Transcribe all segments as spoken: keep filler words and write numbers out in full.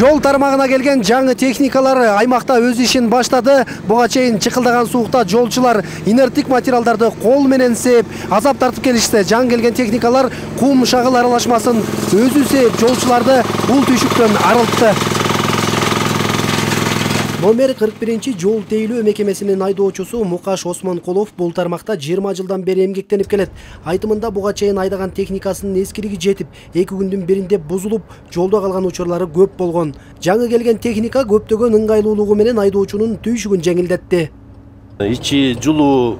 Жол тармагына келген жаңы техникалар аймакта өз ишин баштады. Буга чейин чыкылдаган суукта жолчулар инерттик материалдарды кол менен сээп, азап тартып келишти. Жаңы келген техникалар кум шагыл аралашмасын өзү сээп, жолчуларды бул түйшүктөн арылтты. Номер кырк биринчи жол тейлөө мекемесинин айдоочусу Мукаш Осмонкулов бул тармакта жыйырма жылдан бери эмгектенип келет. Айтымында буга чейин айдаган техникасынын эскилиги жетип, эки күндүн биринде бузулуп, жолдо калган учурлары көп болгон. Жаңы келген техника көптөгөн ыңгайлуулугу менен айдоочунун түйшүгүн жеңилдетти. Ичи жулуу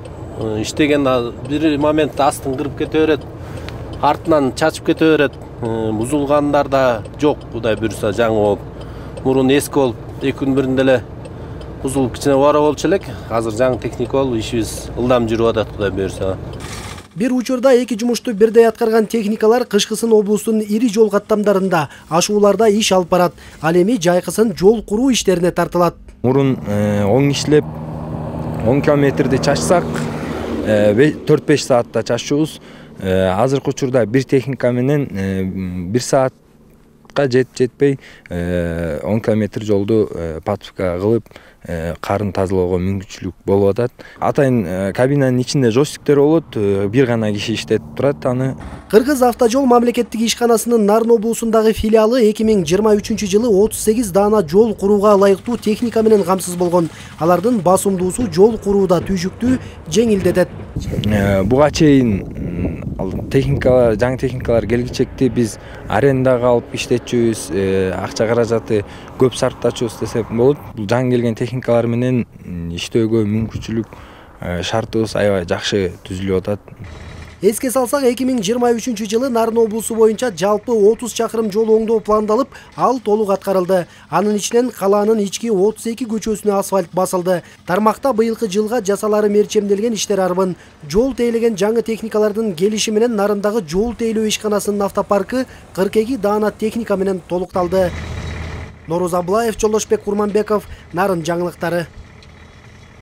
иштеген бир моментте астын кырып кете берет, артынан чачып кете берет. Бузулгандар да жок, Кудай буйруса жаңы болуп. Мурун эски болуп, эки күн биринде эле бузулуп кичине бара болчу элек. Азыр жаңы техника болуп, ишибиз ылдам жүрүп атат, Кудай буйруса. Бир учурда эки жумушту бирдей аткарган техникалар кышкысын облустун ири жол каттамдарында, ашууларда иш алып барат. Ал эми жайкысын жол куруу иштерине тартылат. Мурун оң иштеп он километрди чачсак, төрт беш саатта чаччубуз. Азыркы учурда бир техника менен бир саатка жет жетпей он километр жолду подписка кылып, карын тазалоого мүмкүнчүлүк болуп атат. Атайын кабинанын ичинде жойстиктер болот, бир гана киши иштетип турат аны. Кыргыз автожол мамлекеттик ишканасынын Нарын облусундагы филиалы эки миң жыйырма үчүнчү жылы отуз сегиз даана жол курууга ылайыктуу техника менен камсыз болгон. Алардын басымдуусу жол курууда түйшүктү жеңилдетет. Буга чейин техникалар, жаңы техникалар келгичекти биз арендага алып иштетчүбүз, акча каражаты көп сарптачубуз десек болот. Бул жаңы келген техникалар менен иштөөгө мүмкүнчүлүк шартыбыз аябай жакшы түзүлүп атат. Эске салсак, эки миң жыйырма үчүнчү жылы Нарын облусу боюнча жалпы отуз чакырым жол оңдоо пландалып, ал толук аткарылды. Анын ичинен калаанын ички отуз эки көчөсүнө асфальт басылды. Тармакта быйылкы жылга жасалары мерчемделген иштер арбын. Жол тейлеген жаңы техникалардын келиши менен Нарындагы жол тейлөө ишканасынын автопаркы кырк эки даана техника менен толукталды. Нороза Аблаев, Жолдошбек Курманбеков, Нарын жаңылыктары.